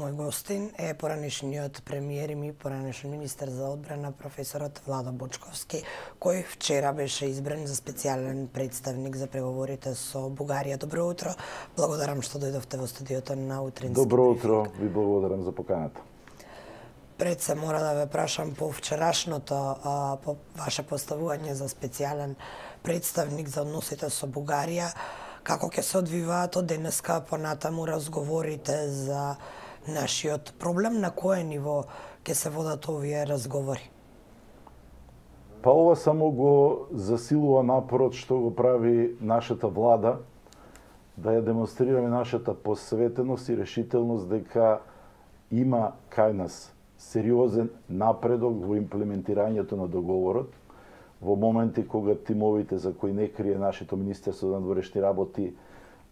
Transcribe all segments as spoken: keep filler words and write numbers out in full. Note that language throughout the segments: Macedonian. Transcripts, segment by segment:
Мој гостин е поранешниот премиер и поранешен министер за одбрана професорот Владо Бочковски, кој вчера беше избран за специјален представник за преговорите со Бугарија. Добро утро. Благодарам што дојдовте во студиото на Утрински. Добро утро, ви благодарам за поканата. Пред се мора да ве прашам по вчерашното а, по ваше поставување за специјален представник за односите со Бугарија. Како ќе се одвиваат од денеска понатаму разговорите за нашиот проблем, на кое ниво ќе се водат овие разговори? Па ова само го засилува напорот што го прави нашата влада, да ја демонстрираме нашата посветеност и решителност дека има кај нас сериозен напредок во имплементирањето на договорот, во моменти кога тимовите за кои не крие нашето Министерство за надворешни работи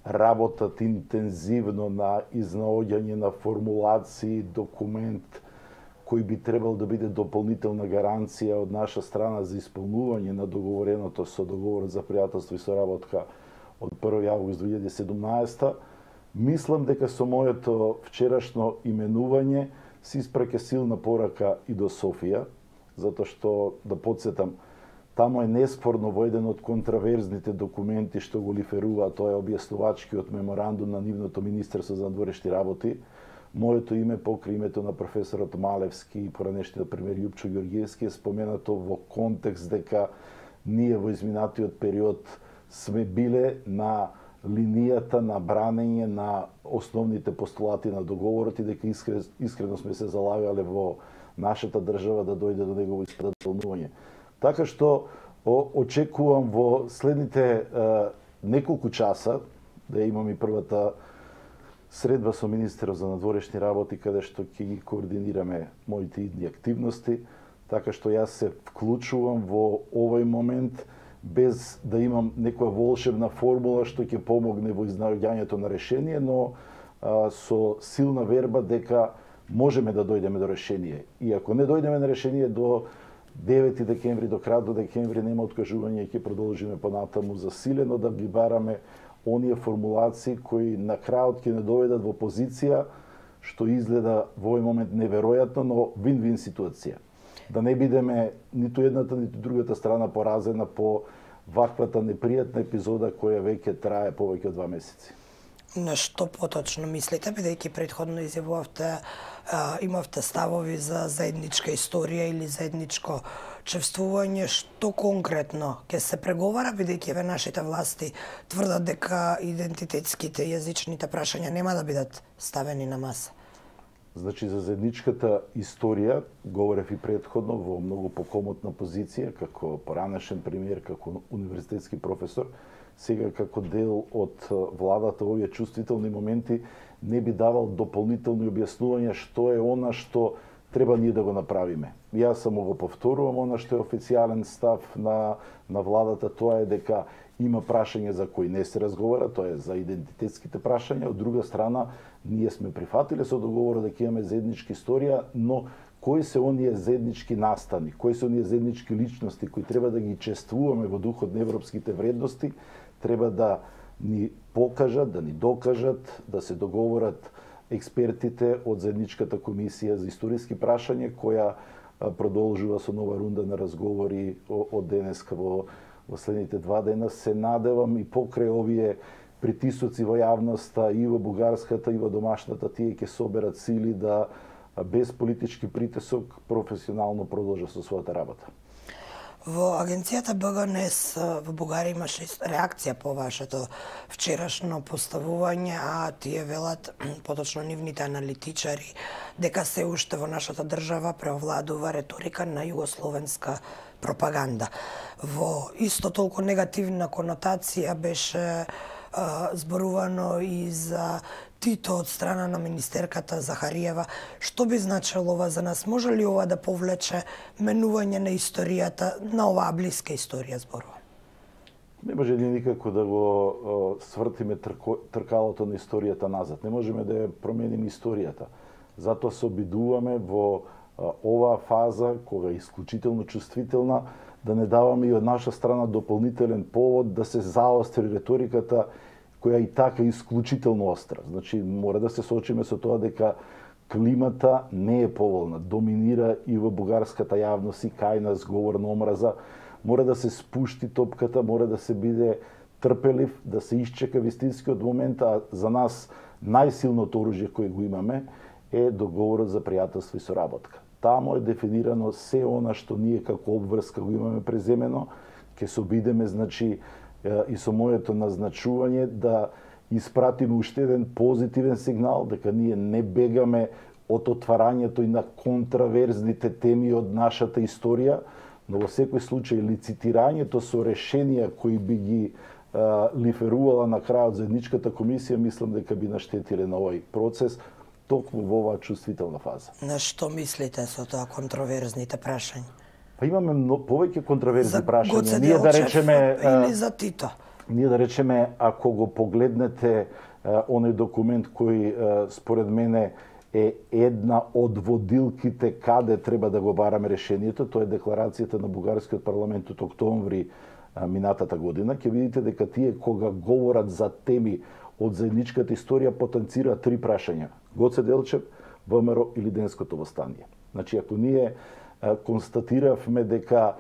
работат интензивно на изнаоѓање на формулации, документ кој би требал да биде дополнителна гаранција од наша страна за исполнување на договореното со договорот за пријателство и соработка од први август две илјади и седумнаесета, мислам дека со моето вчерашно именување се испраќа силна порака и до Софија, затоа што, да подсетам, тамо е неспорно во еден од контраверзните документи што го лиферува, тоа е објаснувачкиот меморандум на нивното Министерство за надворешни работи. Моето име покрај името на професорот Малевски и поранешниот премиер Љупчо Ѓорѓевски е споменато во контекст дека ние во изминатиот период сме биле на линијата на бранење на основните постулати на договорот и дека искрено сме се залагале во нашата држава да дојде до негово исполнување. Така што очекувам во следните е, неколку часа да имам и првата средба со министерот за надворешни работи, каде што ќе ги координираме моите идни активности, така што јас се вклучувам во овој момент без да имам некоја волшебна формула што ќе помогне во изнаоѓањето на решение, но а, со силна верба дека можеме да дојдеме до решение. И ако не дојдеме на решение до девети декември, до крајот до декември нема откажување и ќе продолжиме понатаму засилено да ги бараме оние формулации кои на крајот ќе не доведат во позиција што изгледа во овој момент неверојатно, но вин-вин ситуација. Да не бидеме ниту едната, ниту другата страна поразена по ваквата непријатна епизода која веќе трае повеќе од два месеци. На што поточно мислите, бидејќи претходно изјавувавте, имавте ставови за заедничка историја или заедничко чествување, што конкретно ќе се преговара, бидејќи ве нашите власти тврдат дека идентитетските и јазичните прашања нема да бидат ставени на маса? Значи, за заедничката историја говорев и претходно во многу покомотна позиција, како поранешен премиер, како универзитетски професор. Сега како дел од владата овие чувствителни моменти не би давал дополнителни објаснувања што е она што треба ние да го направиме. Јас само го повторувам она што е официјален став на, на владата, тоа е дека има прашања за кои не се разговара, тоа е за идентитетските прашања. Од друга страна, ние сме прифатиле со договорот дека имаме заедничка историја, но кои се оние заеднички настани, кои се оние заеднички личности кои треба да ги чествуваме во духот на европските вредности, треба да ни покажат, да ни докажат, да се договорат експертите од заедничката комисија за историски прашања, која продолжува со нова рунда на разговори од денеска во, во следните два дена. Се надевам и покрај овие притисоци во јавноста и во бугарската и во домашната, тие ќе соберат сили да без политички притисок професионално продолжа со својата работа. Во агенцијата Б Г Н С во Бугарија имаше реакција по вашето вчерашно поставување, а тие велат, поточно нивните аналитичари, дека се уште во нашата држава преовладува реторика на југословенска пропаганда. Во исто толку негативна конотација беше а, зборувано и за Тито од страна на министерката Захариева. Што би значило ова за нас? Може ли ова да повлече менување на историјата, на оваа блиска историја зборува? Не може ли никако да го о, свртиме трко, тркалото на историјата назад. Не можеме да ја промениме историјата. Затоа се обидуваме во о, оваа фаза, кога е исклучително чувствителна, да не даваме и од наша страна дополнителен повод да се заостри реториката која и така е исклучително остра. Значи, мора да се соочиме со тоа дека климата не е поволна, доминира и во бугарската јавност и кај нас говор на омраза. Мора да се спушти топката, мора да се биде трпелив, да се исчека вистинскиот момент, а за нас најсилното оружје кое го имаме е договорот за пријателство и соработка. Таму е дефинирано се она што ние како обврска го имаме преземено, ќе се обидеме, значи, и со моето назначување да испратиме уште еден позитивен сигнал, дека ние не бегаме од отварањето и на контраверзните теми од нашата историја, но во секој случај лицитирањето со решенија кои би ги а, лиферувала на крајот заедничката комисија, мислам дека би наштетиле на овој процес, токму во оваа чувствителна фаза. На што мислите со тоа контроверзните прашања? Па имаме много, повеќе контроверзни за прашања. Гоце Ние да Делчев речеме или за Тито? Ние да речеме, ако го погледнете а, оној документ кој а, според мене е една од водилките каде треба да го бараме решението, тоа е декларацијата на бугарскиот парламент од октомври а, минатата година, ќе видите дека тие кога говорат за теми од заедничката историја потенцираат три прашања: Гоце Делчев, ВМРО или Денското востание. Значи, ако ние а, констатиравме дека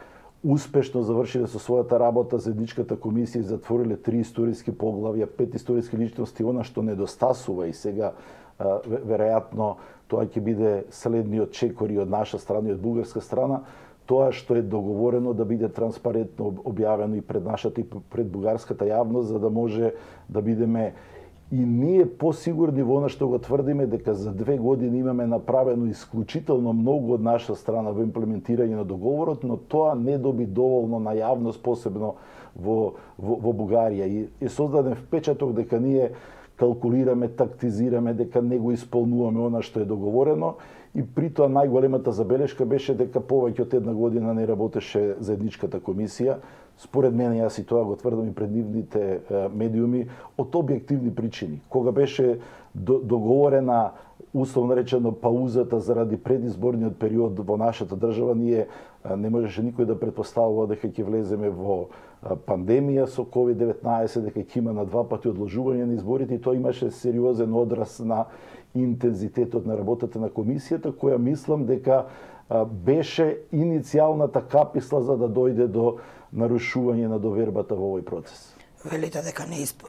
успешно завршиле со својата работа заедничката комисија и затвориле три историски поглавја, пет историски личности, она што недостасува и сега а, веројатно тоа ќе биде следниот чекор и од наша страна и од бугарска страна, тоа што е договорено да биде транспарентно објавено и пред нашата и пред бугарската јавност, за да може да бидеме и ние посигурни во она што го тврдиме, дека за две години имаме направено исклучително многу од наша страна во имплементирање на договорот, но тоа не доби доволно на јавност, посебно во, во, во Бугарија. И е создаден впечаток дека ние калкулираме, тактизираме, дека не го исполнуваме она што е договорено, и при тоа најголемата забелешка беше дека повеќе од една година не работеше заедничката комисија. Според мене, јас и тоа го тврдам и пред нивните медиуми, од објективни причини. Кога беше договорена, условно речено, паузата заради предизборниот период во нашата држава, ние не можеше никој да претпоставува дека ќе влеземе во пандемија со ковид деветнаесет, дека ќе има на два пати одложување на изборите, и тоа имаше сериозен одраз на интензитетот на работата на комисијата, која мислам дека беше иницијалната каписла за да дојде до нарушување на довербата во овој процес. Велите дека не исп...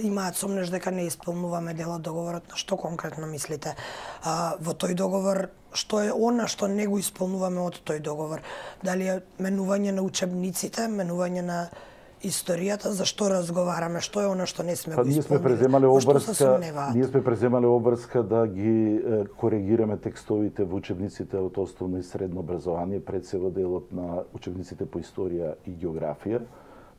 имаат сомнеш дека не исполнуваме дел од договорот. На што конкретно мислите? А, во тој договор, што е она што не го исполнуваме од тој договор? Дали е менување на учебниците, менување на историјата, за што разговараме, што е она што не сме па, го ние сме исполнили? преземале обврска, ние сме преземале обврска да ги е, коригираме текстовите во учебниците од основно и средно образование, пред се во делот на учебниците по историја и географија.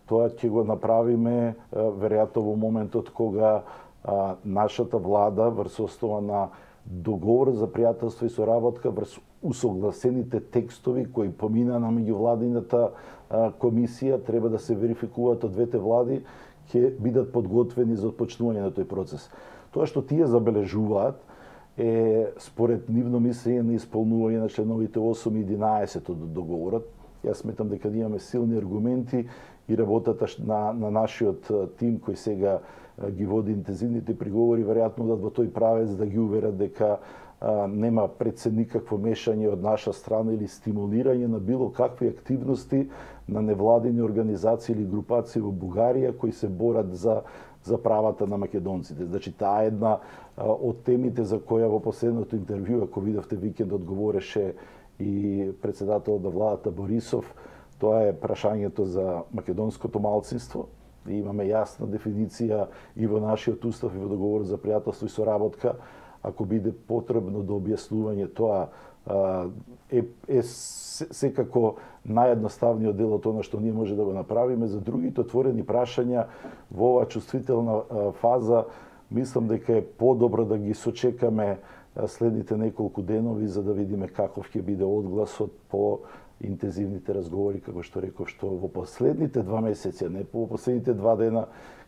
Тоа ќе го направиме веројатно во моментот кога а, нашата влада врз основа на договор за пријателство и соработка, врз усогласените текстови кои помина на меѓувладината комисија, треба да се верификуваат од двете влади, ќе бидат подготвени за отпочнување на тој процес. Тоа што тие забележуваат е според нивно мислење на исполнување на членовите осум и единаесет од договорот. Јас сметам дека имаме силни аргументи и работата на, на нашиот тим кој сега ги води интензивните приговори, веројатно да во тој правец да ги уверат дека а, нема пред се никакво мешање од наша страна или стимулирање на било какви активности на невладини организации или групации во Бугарија кои се борат за за правата на македонците. Значи, таа е една а, од темите за која во последното интервју, ако видовте викендот, говореше и председателот на владата Борисов, тоа е прашањето за македонското малцинство. И имаме јасна дефиниција и во нашиот устав и во договор за пријателство и соработка. Ако биде потребно до објаснување тоа, е, е секако наједноставниот дел од тоа што ние може да го направиме. За другите отворени прашања во оваа чувствителна фаза, мислам дека е подобро да ги сочекаме следните неколку денови за да видиме каков ќе биде одгласот по интензивните разговори, како што реков, што во последните два месеци, не по последните два дена,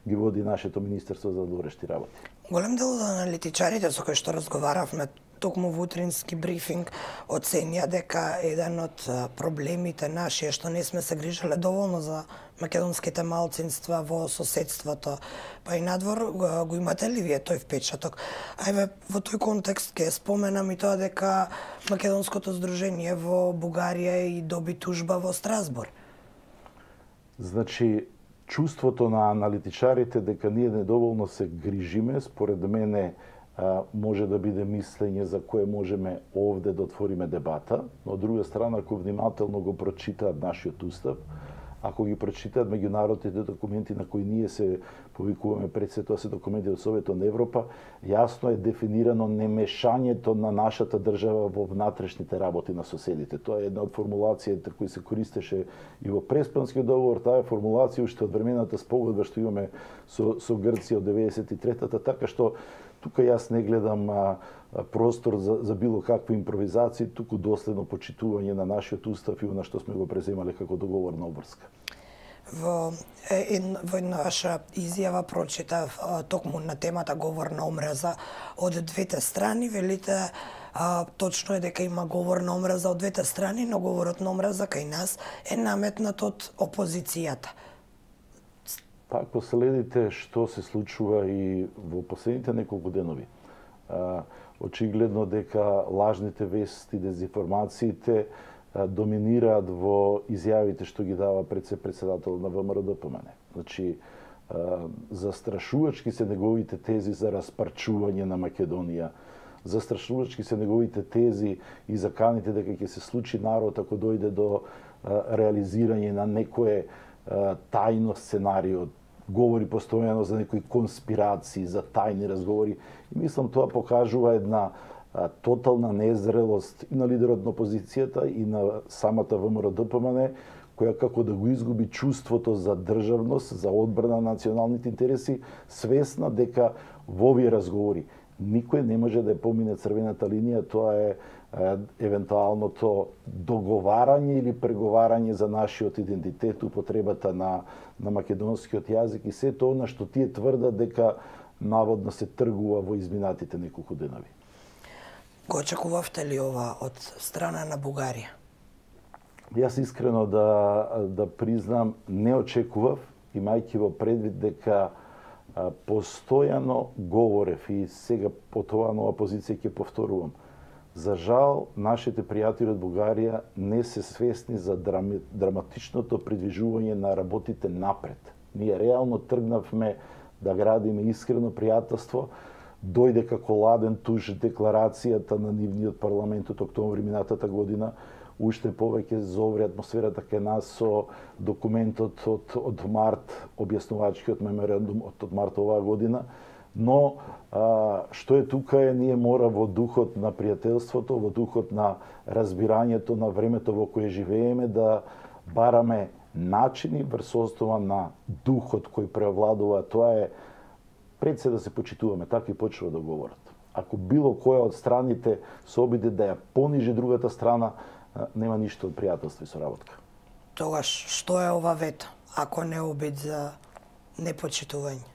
ги води нашето Министерство за внатрешни работи. Голем дел од аналитичарите со кои што разговаравме токму во утрински брифинг оценија дека еден од проблемите наши е што не сме се грижеле доволно за македонските малцинства во соседството, па и надвор го имате ли вие тој впечаток? Ајде, во тој контекст ќе споменам и тоа дека Македонското здружение во Бугарија и доби тужба во Страсбур. Значи, чувството на аналитичарите дека ние недоволно се грижиме, според мене може да биде мислење за кое можеме овде да отвориме дебата, но од друга страна, ако внимателно го прочитаат нашиот устав, ако ги прочитаат меѓународните документи на кои ние се повикуваме, пред се тоа се документи од Советот на Европа, јасно е дефинирано немешањето на нашата држава во внатрешните работи на соседите. Тоа е една од формулациите кои се користеше и во Преспанскиот договор, таа е формулација уште од времената спогодба што имаме со, со Грција од деветдесет и третата, така што тука јас не гледам а, простор за, за било какви импровизации, туку доследно почитување на нашиот устав и на што сме го преземале како договорна обврска. Во, ед, во една ваша изјава прочитав токму на темата говор на омраза од двете страни, велите а, точно е дека има говор на омраза од двете страни, но говорот на омраза кај нас е наметнат од опозицијата. Пак последите што се случува и во последните неколку денови. А, очигледно дека лажните вести, дезинформациите а, доминираат во изјавите што ги дава председател на ВМРО-ДПМН. Значи, а, застрашувачки се неговите тези за распарчување на Македонија, застрашувачки се неговите тези и заканите дека ќе се случи народ ако дојде до а, реализирање на некое а, тајно сценарио, говори постојано за некои конспирации, за тајни разговори. И мислам тоа покажува една а, тотална незрелост и на лидерот на опозицијата и на самата ВМРО-ДПМН, која како да го изгуби чувството за државност, за одбрана на националните интереси, свесна дека во овие разговори никој не може да ја помине црвената линија, тоа е евентуалното договарање или преговарање за нашиот идентитет, употребата на, на македонскиот јазик и се тоа на што тие тврдат дека наводно се тргува во изминатите неколку денови. Го очекувавте ли ова од страна на Бугарија? Јас искрено да, да признам, не очекував, имајќи во предвид дека а, постојано говорев и сега по тоа нова позиција ќе повторувам. За жал, нашите пријатели од Бугарија не се свесни за драми, драматичното придвижување на работите напред. Ние реално тргнавме да градиме искрено пријателство, дојде како ладен туш декларацијата на нивниот парламент од октомври минатата година, уште повеќе зоври атмосферата кај нас со документот од, од март, објаснувачкиот меморандум од, од март оваа година, но а, што е тука е, ние мора во духот на пријателството, во духот на разбирањето на времето во кое живееме, да бараме начини врз основа на духот кој преовладува. Тоа е пред се да се почитуваме, така и почнува да говорат. Ако било која од страните се обиде да ја понижи другата страна, нема ништо од пријателство и соработка. Тогаш, што е ова вето, ако не обид за непочитување?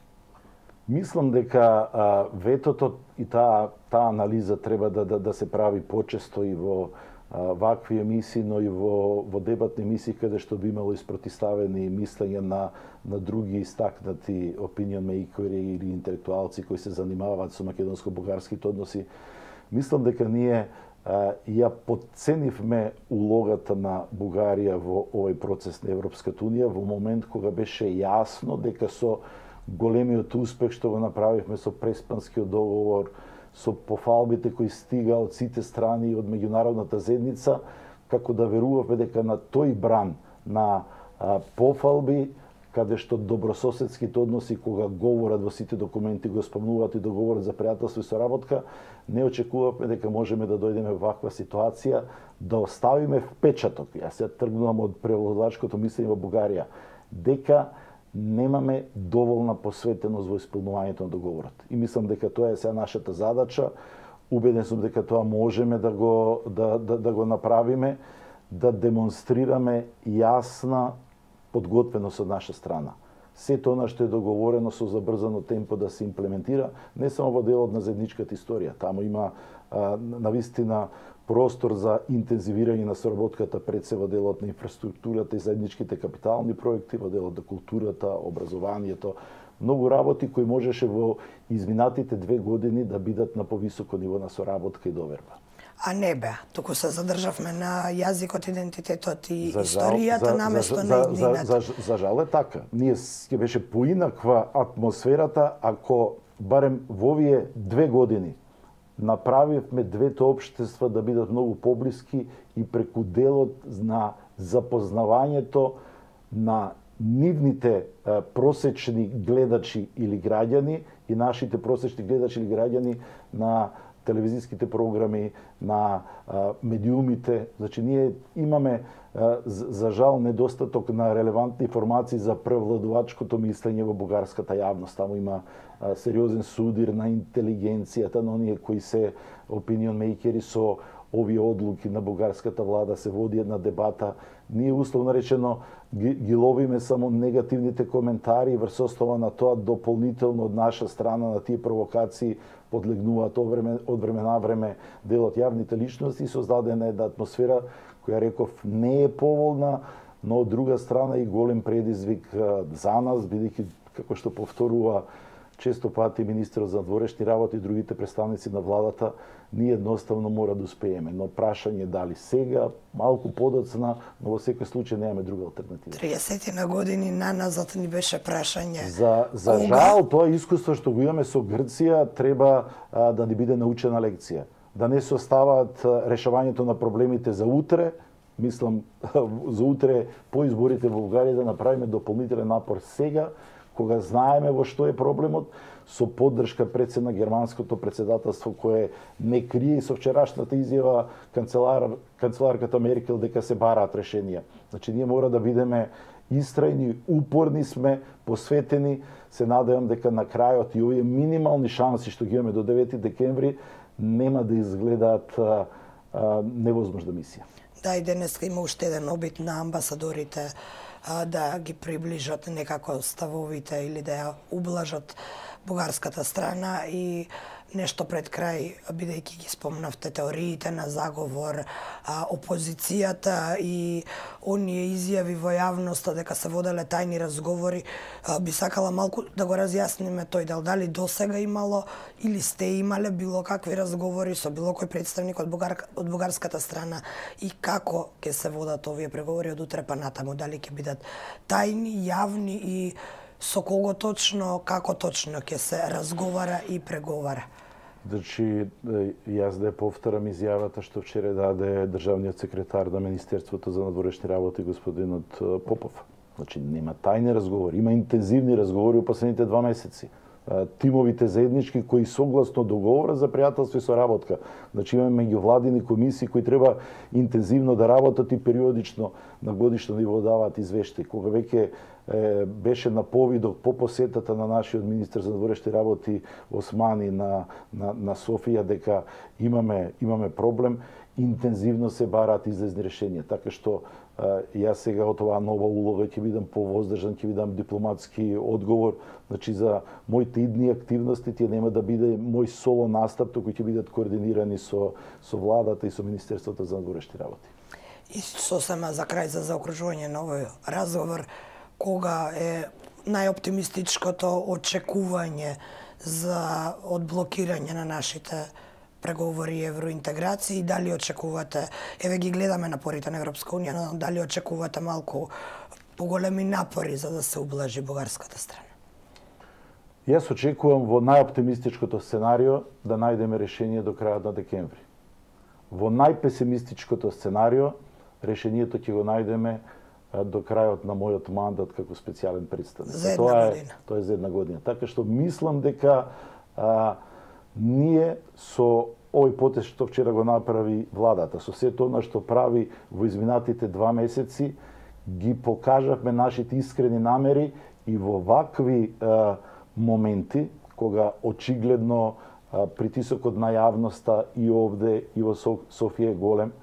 Мислам дека а, ветото и таа таа анализа треба да, да, да се прави почесто и во а, вакви емисии, но и во, во дебатни емисии каде што би имало испротиставени мислења на, на други истакнати opinion makeri или интелектуалци кои се занимаваат со македонско-бугарските односи. Мислам дека ние а, ја подценивме улогата на Бугарија во овој процес на Европската унија во момент кога беше јасно дека со големиот успех што го направивме со Преспанскиот договор, со пофалбите кои стига од сите страни и од меѓународната заедница, како да веруваме дека на тој бран на а, пофалби, каде што добрососедските односи кога говорат во сите документи го спомнуваат и договорот за пријателство и соработка, не очекувавме дека можеме да дојдеме во ваква ситуација, да оставиме впечаток. Јас ја тргнувам од превладачкото мислење во Бугарија, дека немаме доволна посветеност во исполнувањето на договорот. И мислам дека тоа е сега нашата задача. Убеден сум дека тоа можеме да го да, да, да го направиме, да демонстрираме јасна подготвеност од наша страна. Сето она што е договорено со забрзано темпо да се имплементира, не само во делот на заедничката историја. Таму има на вистина простор за интензивирање на соработката пред се во делот на инфраструктурата и заедничките капитални проекти, во делот на културата, образованието, многу работи кои можеше во изминатите две години да бидат на повисоко ниво на соработка и доверба. А не бе, туку се задржавме на јазикот, идентитетот и за историјата наместо на иднината. За, за, за жал е така. Ние ќе беше поинаква атмосферата ако барем во овие две години направивме двете општества да бидат многу поблиски и преку делот на запознавањето на нивните а, просечни гледачи или граѓани и нашите просечни гледачи или граѓани на телевизиските програми, на а, медиумите. Значи, ние имаме, а, за, за жал, недостаток на релевантни информации за превладувачкото мислење во бугарската јавност. Таму има а, сериозен судир на интелигенцијата, на оние кои се опинион мейкери со овие одлуки на бугарската влада, се води една дебата. Ние, условно речено, ги, ги ловиме само негативните коментари и врз основа на тоа дополнително од наша страна на тие провокации подлегнуваат од време, од време на време делот јавните личности и создадена една атмосфера која, реков, не е поволна, но од друга страна и голем предизвик за нас, бидејќи, како што повторува често пати министерот за надворешни работи и другите представници на владата, ние едноставно мора да успееме. Но прашање дали сега, малку подоцна, но во секој случај немаме друга алтернатива. триесет на години наназад ни беше прашање. За, за жал, тоа искуство што го имаме со Грција треба а, да ни биде научена лекција. Да не се оставаат решавањето на проблемите за утре, мислам за утре по изборите во Бугарија, да направиме дополнителен напор сега, кога знаеме во што е проблемот, со поддршка пред се на германското председателство, кое не крие и со вчерашната изјава канцелар, канцеларката Меркел дека се бараат решенија. Значи, ние мора да бидеме истрајни, упорни сме, посветени. Се надевам дека на крајот и овие минимални шанси што ги имаме до девети декември нема да изгледаат а, а, невозможна мисија. Да, и денеска има уште еден обид на амбасадорите а, да ги приближат некако ставовите или да ја ублажат бугарската страна и нешто пред крај, бидејќи ги спомнавте теориите на заговор, а, опозицијата и оние изјави во јавноста дека се воделе тајни разговори, а, би сакала малку да го разјасниме тој дел, дали досега имало или сте имале било какви разговори со било кој представник од, бугар, од бугарската страна и како ќе се водат овие преговори од утре па натаму, дали ќе бидат тајни, јавни и со кого точно, како точно ќе се разговара и преговара? Значи, јас да повторам изјавата што вчера даде државниот секретар на Министерството за надворешни работи господинот Попов. Значи, нема тајни разговори, има интензивни разговори во последните два месеци. Тимовите заеднички кои согласно договора за пријателство и соработка. Значи, имаме меѓувладини комисии кои треба интензивно да работат и периодично на годишно ниво даваат извештаи. Кога веќе е, беше на повидок по посетата на нашиот министер за надворешни работи Османи на, на, на Софија дека имаме, имаме проблем, интензивно се бараат излезни решенија. Така што а, јас сега од оваа нова улога ќе бидам повоздржан, ќе бидам дипломатски одговор. Значи, за моите идни активности тие нема да биде мој соло настап, туку ќе бидат координирани со, со владата и со Министерството за надворешни работи. И сосема за крај за заокружување на овој разговор, кога е најоптимистичкото очекување за одблокирање на нашите преговори и евроинтеграции, дали очекувате, еве ги гледаме напорите на Европска унија, но дали очекувате малку поголеми напори за да се ублажи бугарската страна? Јас очекувам во најоптимистичкото сценарио да најдеме решение до крајот на декември. Во најпесимистичкото сценарио решението ќе го најдеме до крајот на мојот мандат како специјален представник. За една тоа е, година. Тоа е за една година. Така што мислам дека а, ние со овој потез што вчера го направи владата, со сето она што прави во изминатите два месеци, ги покажавме нашите искрени намери и во вакви а, моменти, кога очигледно а, притисокот на јавноста и овде и во Софија е голем,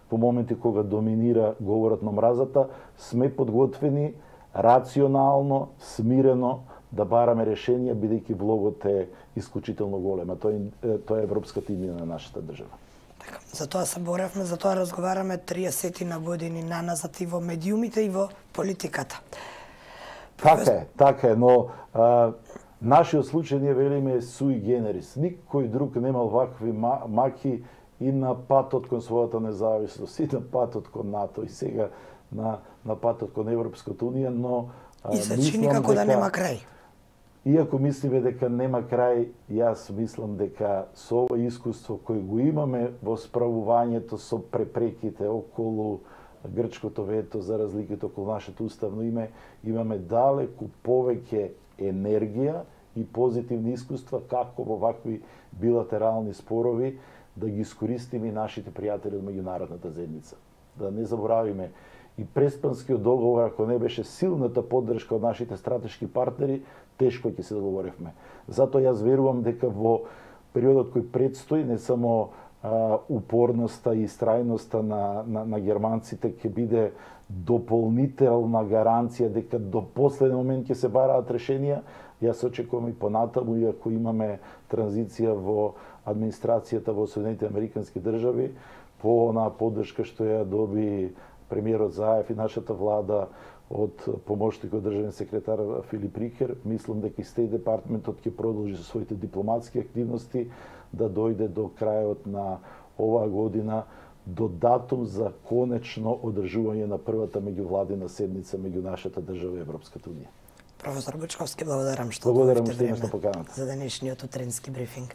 по моменти кога доминира говорот на мразата, сме подготвени рационално, смирено да бараме решенија, бидејќи влогот е исклучително голема. Тоа е, тоа е европската иднина на нашата држава. Така, за тоа се боревме, за тоа разговараме триесет на години наназад и во медиумите и во политиката. Така е, така е, но а, нашиот случај ние велиме суи генерис. Никој друг немал вакви маки и на патот кон својата независност, и на патот кон НАТО, и сега на, на патот кон Европската Унија, но и се чини како дека, да нема крај. Иако мислиме дека нема крај, јас мислам дека со ова искуство кој го имаме во справувањето со препреките околу грчкото вето за разликите околу нашето уставно име, имаме далеку повеќе енергија и позитивни искуства како во вакви билатерални спорови да ги искористиме и нашите пријатели од меѓународната заедница. Да не заборавиме и Преспанскиот договор, ако не беше силната поддршка од нашите стратешки партнери, тешко ќе се договоревме. Затоа јас верувам дека во периодот кој предстои, не само а, упорноста и истрајноста на, на, на германците ќе биде дополнителна гаранција дека до последен момент ќе се бараат решенија. Јас очекувам и понатаму, иако имаме транзиција во администрацијата во Соединетите Американски држави, по онаа поддршка што ја доби премиерот Заев и нашата влада од помошникот државен секретар Филип Рикер, мислам дека и Стејт департментот ќе продолжи со своите дипломатски активности да дојде до крајот на оваа година до датум за конечно одржување на првата меѓувладина седница меѓу нашата држава и Европската Унија. Професор Бучковски, благодарам што Благодарам одвоивте што време поканата за денешниот утренски брифинг.